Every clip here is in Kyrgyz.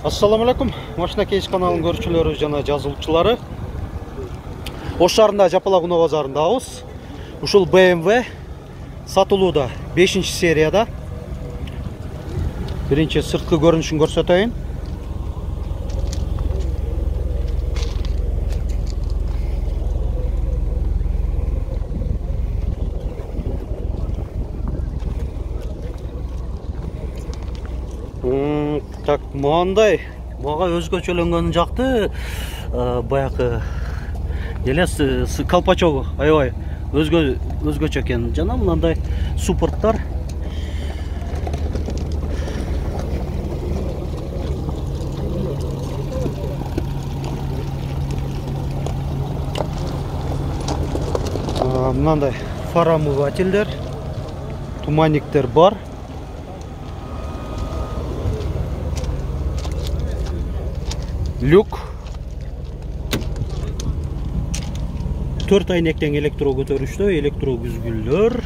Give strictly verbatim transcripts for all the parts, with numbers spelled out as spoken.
Assalamu alaikum. Машина кейс каналынын көрүүчүлөрү жана жазылуучулары. Ош шаарында Жапалак Уноо базарындабыз. Ушул бэ эм вэ сатылууда бешинчи серияда. Биринчи сырткы көрүнүшүн көрсөтөйүн. Так, мындай мага өзгөчөлөнгөнү жакты. Баягы элес колпачогу аябай өзгө өзгөчө экен. Жана мындай суппорттар. Мындай фара омывательдер, туманниктер бар. Люк. төрт айнектен электро көтөрүштө, электро күзгүлдөр.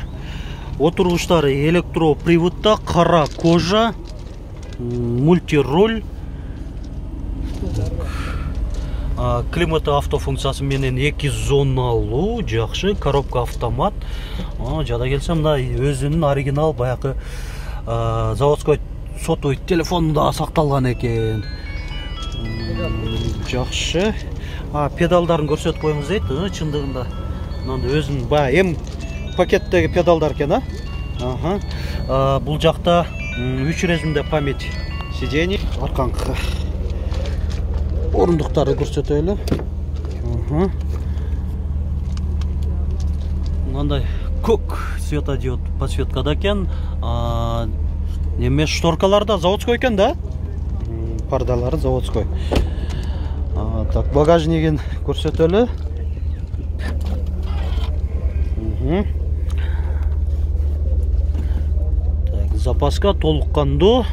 Отургучтары электро приводта, кара кожа, мультируль. Климат автофункциясы менен эки зоналуу, жакшы, коробка автомат. Жада келсем да өзүнүн оригинал баягы заводской сотовый телефонунда сакталган экен. Жакшы. Педалдарын көрсөтүп коюңуз дейт. Чындыгында мындай өзүнүн баягы эм пакеттеги педалдар экен, а? Аха. Бул жакта үч режимде память сидений, арканкы орундуктарды көрсөтөлү. Аха. Мындай көк светодиод подсветкада экен. Неме шторкаларда заводской экен да? Пардалары заводской. Так, багажнигин көрсөтөлү. Так, запаска толук кандуу.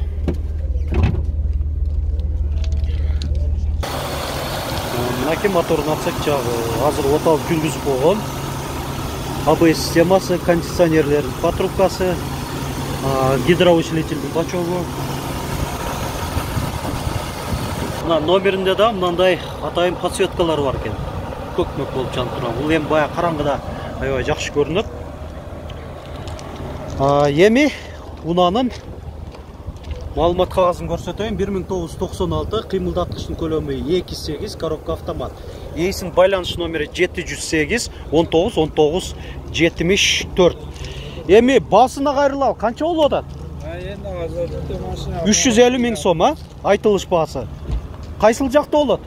Мынаки мотордун отсек жагы азыр оталып жүргүзүп койгон. а бэ эс системасы, кондиционерлердин патрубкасы, гидроусилителдин бачогу. Мына номеринде да мындай атайын подсветкалар бар экен. Көк-мөк болуп жанып турган. Бул эми бая караңгыда аябай жакшы көрүнөт. Эми унаанын маалымат кагазын көрсөтөйүн. бир миң тогуз жүз токсон алты, кыймылдаткычтын көлөмү эки сегиз, коробка автомат. Эйсин байланыш номери жети жүз сегиз он тогуз он тогуз жетимиш төрт. Эми баасына кайрылабы канча болот атат? Эми азыр машина үч жүз элүү миң сом, а? Айтылыш баасы. Кайсыл жакта болот?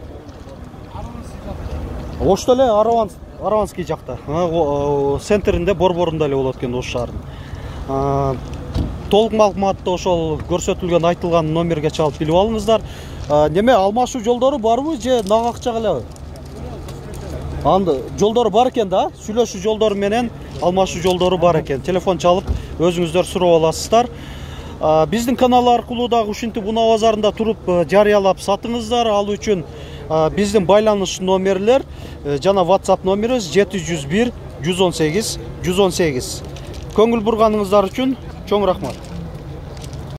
Ошто эле Араванский жакта. Центринде, борборунда эле болот экен Ош шаарынын. Толук маалыматты ошол көрсөтүлгөн айтылган номерге чалып билип алыңыздар. Неме алмашуу жолдору барбы же нак акча элеби? Анда жолдору бар экен да? Сүйлөшүү жолдору менен алмашуу жолдору бар экен. Телефон чалып өзүңүздөр сурап аласыздар. Биздин канал аркылуу дагы ушинтип Уноо базарында туруп жарыялап сатыңыздар. Ал үчүн биздин байланыш номерлер жана WhatsApp номерибиз жети жүз бир жүз он сегиз жүз он сегиз. Көңүл бурганыңыздар үчүн чоң рахмат.